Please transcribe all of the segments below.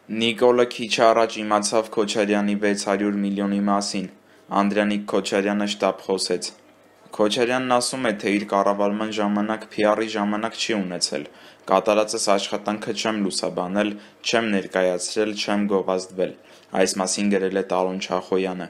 Նիկոլը քիչ առաջ իմացավ Քոչարյանի 600 միլիոնի մասին, Անդրանիկ Քոչարյանը շտապ խոսեց: Քոչարյանն ասում է, թե իր կառավարման ժամանակ PR-ի ժամանակ չի ունեցել, կատարածս աշխատանքը չեմ լուսաբանել, չեմ ներկայացրել, չեմ գովազդվել, այս մասին գրել է Տարոն Չախոյանը: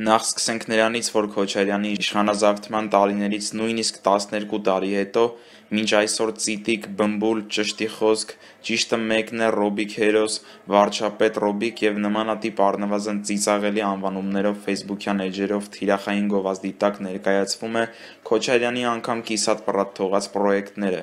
Նախ սկսենք նրանից, որ Քոչարյանի իշխանազավթման տարիներից նույնիսկ 12 տարի հետո, մինչ այսօր ծիտիկ, բմբուլ, ճշտի խոսք, ճիշտը մեկն է Ռոբիկ հերոս, վարչապետ Ռոբիկ և նմանատիպ առնվազն ծիծաղելի անվանումներով ֆեյսբուքյան էջերով թիրախային գովազդի տակ ներկայացվում է Քոչարյանի անգամ կիսատ-պռատ թողած պրոյեկտները,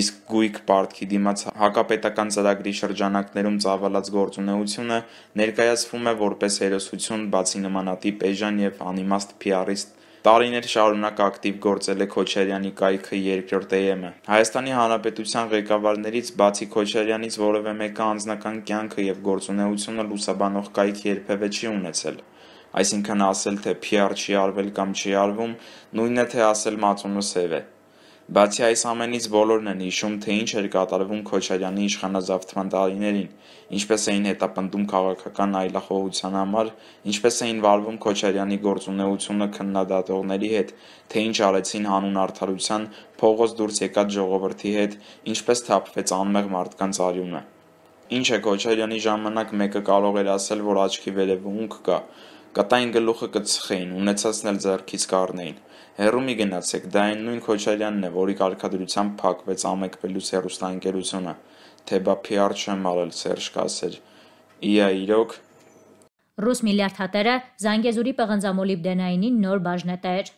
իսկ գույք պարտքի դիմաց հակապետական ծրագրի շրջանակներում ծավալած գործունեությունը ներկայացվում է որպես հերոսություն, բացի նմանատիպ էժան և անիմաստ PR-ից տարիներ շարունակ ակտիվ գործել է Քոչարյանի կայքը երկրորդ EM-ը: Հայաստանի Հանրապետության ղեկավարներից բացի Քոչարյանից որևէ մեկը անձնական կյանքը և գործունեությունը լուսաբանող կայք երբևէ չի ունեցել: Այսինքն ասել, թե PR չի արվել կամ չի արվում, նույնն է, թե ասել մածունը սև է: Բացի այս ամենից բոլորն են հիշում, թե ինչ էր կատարվում Քոչարյանի իշխանազավթման տարիներին, ինչպես էին հետապնդում քաղաքական այլախոհության համար, ինչպես էին վարվում Քոչարյանի գործունեությունը քննադատողների հետ, թե ինչ արեցին հանուն արդարության փողոց դուրս եկած ժողովրդի հետ, ինչպես թափվեց անմեղ մարդկանց արյունը: Ինչ է Քոչարյանի ժամանակ մեկը կարող էր ասել, որ աչքի վերևը ունք կա, կտային գլուխը կծխեին, ունեցածն էլ ձեռքից կառնեին: Հեռու մի գնացեք, դա այն նույն Քոչարյանն է, որի կարգադրությամբ փակվեց Ամեկ++ հեռուստաընկերությունը, թե բա PR չեմ արել, Սերժ կասեր: Իա իրոք: Ռուս միլիարդատերը Զանգեզուրի պղնձամոլիբդենայինի նոր բաժնետեր: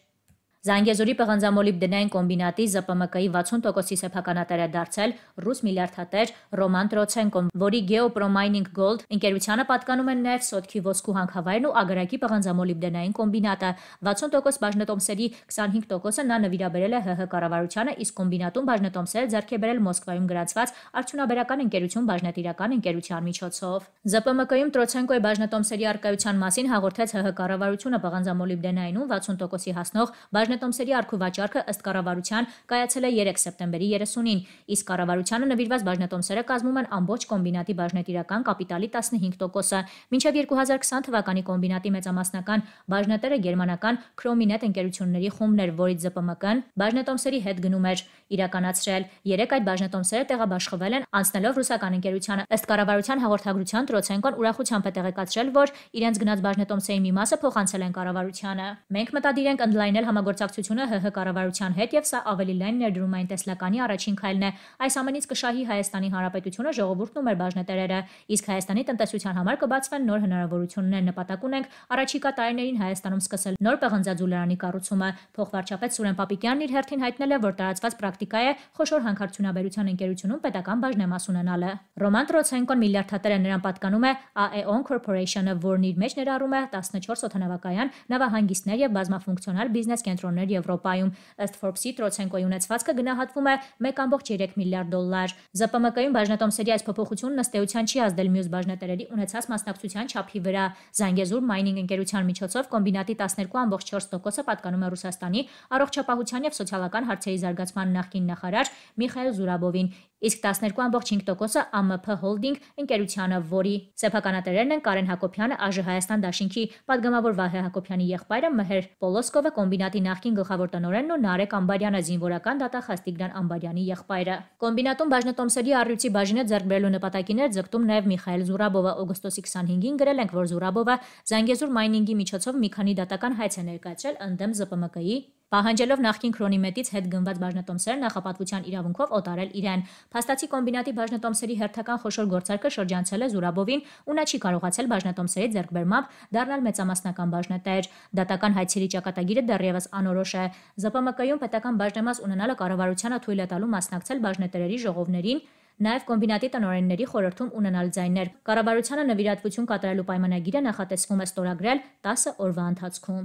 Զանգեզուրի պղնձամոլիբդենային կոմբինատի ԶՊՄԿ-ի 60%-ի սեփականատեր է դարձել ռուս միլիարդատեր Ռոման Տրոցենկոն, որի Geo-Pro Mining Gold ընկերությանը պատկանում են նաև Սոտքի ոսկու հանքավայրն ու Ագարակի պղնձամոլիբդենային կոմբինատը: 60% բաժնետոմսերի 25%-ը նա նվիրաբերել է ՀՀ կառավարությանը, իսկ կոմբինատում բաժնետոմսերը ձեռք է բերել Մոսկվայում գրանցված Արդյունաբերական ընկերություն բաժնետիրական ընկերության միջոցով: ԶՊՄԿ-ում Տրոցենկոյի բաժնետոմսերի առկայության մասին հաղորդեց ՀՀ կառավարությունը: Պղնձամոլիբդենայինում 60%-ի հասնող բաժնետոմսերի առք-ու-վաճառքը ըստ կառավարության կայացել է 3 սեպտեմբերի 30-ին, իսկ կառավարությանը նվիրված բաժնետոմսերը կազմում են ամբողջ կոմբինատի բաժնետիրական կապիտալի 15%: Մինչև 2020 թվականի կոմբինատի մեծամասնական բաժնետերը գերմանական Քրոմինետ ընկերությունների խումբն էր, որից ԶՊՄԿ-ն բաժնետոմսերի հետգնում էր իրականացրել: Երեկ այդ բաժնետոմսերը տեղաբաշխվել են, անցնելով ռուսական ընկերությանը: Ըստ կառավարության հաղորդագրության Տրոցենկոն ուրախությամբ է տեղեկացրել, որ իրենց գնած բաժնետոմսերի մի մասը փոխանցել են կառավարությանը: Մենք մտադիր ենք ընդլայնել համագործակցությունը ՀՀ կառավարության հետ և սա ավելի լայն ներդրումային տեսլականի առաջին քայլն է: Այս ամենից կշահի Հայաստանի Հանրապետությունը, ժողովուրդն ու մեր բաժնետերերը: Իսկ Հայաստանի տնտեսության համար կբացվեն նոր հնարավորություններ: Նպատակ ունենք առաջիկա տարիներին Հայաստանում սկսել նոր պղնձաձուլարանի կառուցումը: Փոխվարչապետ Սուրեն Պապիկյանն իր հերթին հայտնել է, որ տարածված պրակտիկա է խոշոր հանքարդյունաբերության ընկերությունում պետական բաժնեմաս ունենալը: Ռոման Տրոցենկոն միլիարդատեր է, նրան պատկանում է AEON Corporation-ը, որն իր մեջ ներառում է 14 օդանավակայան, նավահանգիստներ և բազմաֆունկցիոնալ բիզնես կենտրոններ Եվրոպայում: Ըստ Forbes-ի Տրոցենկոյի ունեցվածքը գնահատվում է 1.3 միլիարդ դոլար: ԶՊՄԿ-ում բաժնետոմսերի այս փոփոխությունն ըստ էության չի ազդել մյուս բաժնետերերի ունեցած մասնակցության չափի վրա: Զանգեզուր Mining ընկերության միջոցով կոմբինատի 12.4%-ը պատկանում է Ռուսաստանի առողջապահության և սոցիալական հարցերի զարգացման նախկին նախարար Միխայիլ Զուրաբովին, իսկ 12.5%-ը ԱՄՓ Հոլդինգ ընկերությանը, որի սեփականատերերն են Կարեն Հակոբյանը, ԱԺ Հայաստան դաշինքի պատգամավոր Վահե Հակոբյանի եղբայրը Մհեր Պոլոսկովը, կոմբինատի նախկին գլխավոր տնօրենն ու Նարեկ Անբարյանը, զինվորական դատախազ Տիգրան Անբարյանի եղբայրը: Կոմբինատում բաժնետոմսերի առյուծի բաժինը ձեռք բերելու նպատակին էր ձգտում նաև Միխայիլ Զուրաբովը: Օգոստոսի 25-ին գրել ենք, որ Զուրաբովը Զանգեզուր Mining-ի միջոցով մի քանի դատական հայց է ներկայացրել ընդդեմ ԶՊՄԿ-ի, պահանջելով նախկին Քրոնիմետից հետ գնված բաժնետոմսերը նախապատվության իրավունքով օտարել իրեն: Փաստացի կոմբինատի բաժնետոմսերի հերթական խոշոր գործարքը շրջանցել է Զուրաբովին ու նա չի կարողացել բաժնետոմսերի ձեռքբերմամբ դառնալ մեծամասնական բաժնետեր: Դատական հայցերի ճակատագիրը դեռևս անորոշ է: ԶՊՄԿ-ում պետական բաժնեմաս ունենալը կառավարությանը թույլ է տալու մասնակցել բաժնետերերի ժողովներին, նաև կոմբինատի տնօրենների խորհրդում ունենալ ձայներ: Կառավարությանը նվիրատվություն կատարելու պայմանագիրը նախատեսվում է ստորագրել 10 օրվա ընթացքում: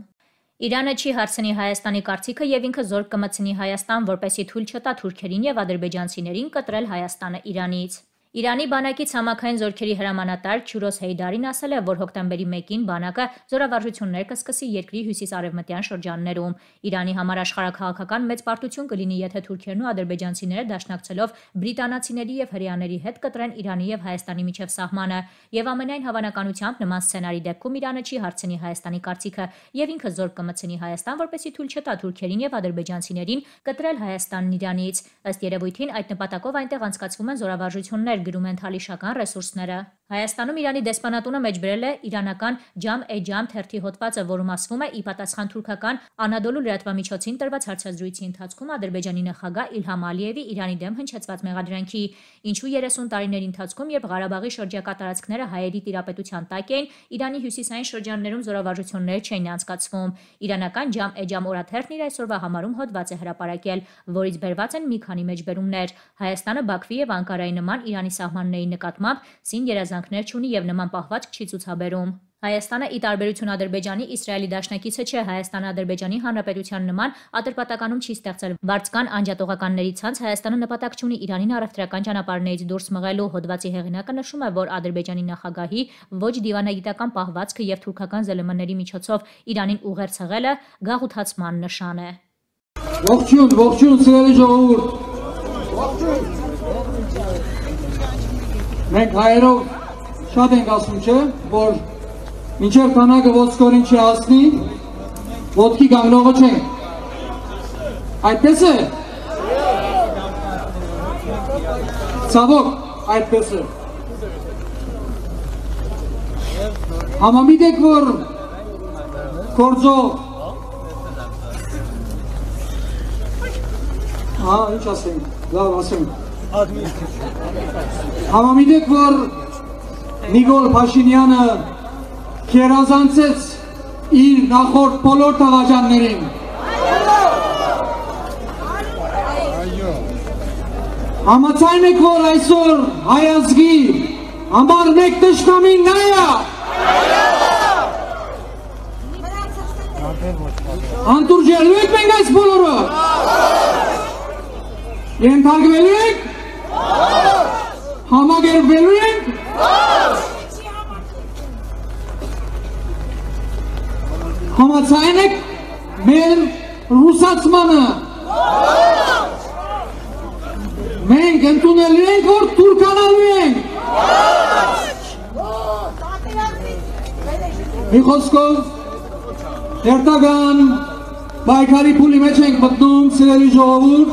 Իրանը չի հարցնի Հայաստանի կարծիքը և ինքը զորք կմտցնի Հայաստան, որպեսզի թույլ չտա թուրքերին և ադրբեջանցիներին կտրել Հայաստանը Իրանից: Իրանի բանակի ցամաքային զորքերի հրամանատար Չուրոս Հեյդարին ասել է, որ հոկտեմբերի 1-ին բանակը զորավարժություններ կսկսի երկրի հյուսիս-արևմտյան շրջաններում։ Իրանի համար աշխարհաքաղաքական մեծ պարտություն կլինի, եթե թուրքերն ու ադրբեջանցիները դաշնակցելով բրիտանացիների եւ հրեաների հետ կտրեն Իրանի եւ Հայաստանի միջև սահմանը, եւ ամենայն հավանականությամբ նման սցենարի դեպքում Իրանը չի հարցնի Հայաստանի կարծիքը եւ ինքը զորք կմտցնի Հայաստան, որպեսզի թույլ չտա թուրքերին եւ ադրբեջանցիներին կտրել Հայաստանն Իրանից։ Ըստ երևույթին, այդ նպատակով այնտեղ անցկացվում են զորավարժություններ, գրում են թալիշական ռեսուրսները։ Հայաստանում Իրանի դեսպանատունը մեջբերել է իրանական Ջամ-e-Ջամ թերթի հոդվածը, որում ասվում է՝ ի պատասխան թուրքական Անադոլու լրատվամիջոցին տրված հարցազրույցի ընթացքում Ադրբեջանի նախագահ Իլհամ Ալիևի Իրանի դեմ հնչեցված մեղադրանքի, ինչու 30 տարիների ընթացքում, երբ Ղարաբաղի շրջակա տարածքները հայերի տիրապետության տակ էին, Իրանի հյուսիսային շրջաններում զորավարժություններ չէին անցկացվում։ Իրանական Ջամ-e-Ջամ օրաթերթն իր այսօրվա համարում հոդված է հրապարակել, որից բերված են մի քանի մեջբերումներ։ Հայաստանը Բաքվի եւ Անկարայի նման Իրանի սահմանների նկատմամբ սին երազանքներ չունի եւ նման պահվածք չի ցուցաբերում։ Հայաստանը, ի տարբերություն Ադրբեջանի, Իսրայելի դաշնակիցը չէ։ Հայաստանը Ադրբեջանի Հանրապետության նման Ատրպատականում չի ստեղծել վարձկան անջատողականների ցանց։ Հայաստանը նպատակ չունի Իրանին առևտրական ճանապարհներից դուրս մղելու։ Հոդվածի հեղինակը նշում է, որ Ադրբեջանի նախագահի ոչ դիվանագիտական պահվածքը եւ թուրքական ԶԼՄ-ների միջոցով Իրանին ուղերձ հղելը գաղութացման նշան է։ Ողջույն, ողջույն, սիրելի ժողովուրդ։ Մենք հայերով շատ ենք ասում, չէ, որ մինչև քանակը ոսկորին չի հասնի, ոտքի կանգնողը չենք։ Այդպես է։ Ցավոք, այդպես է։ Համամիտ եք, որ գործող ինչ ասենք, լավ ասենք։ Համամիտ եք, որ Նիկոլ Փաշինյանը քերազանցեց իր նախորդ բոլոր տղաջաններին։ Համաձայն եք, որ այսօր հայ ազգի համար մեկ թշնամին նա է։ Անտուրջելու եք մենք այս բոլորը։ Ենթարկվելու եք։ Համագերբվելու եք։ Համաձայն եք մեր ռուսացմանը։ Մենք ընդունելու ենք, որ թուրքանալու ենք։ Մի խոսքով հերթական պայքարի փուլի մեջ ենք մտնում, սիրելի ժողովուրդ,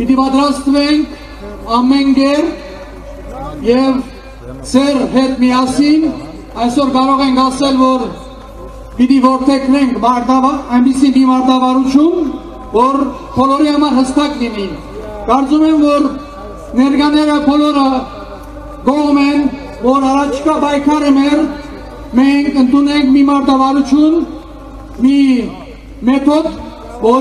պիտի պատրաստվենք ամեն կերպ եւ ձեր հետ միասին այսօր կարող ենք ասել, որ պիտի որդեգրենք այնպիսի մի մարտավարություն, որ բոլորի համար հստակ լինի։ Կարծում եմ, որ ներկաները բոլորը գոհ են, որ առաջիկա պայքարը մենք ընդունենք մի մարտավարություն, մի մեթոդ, որ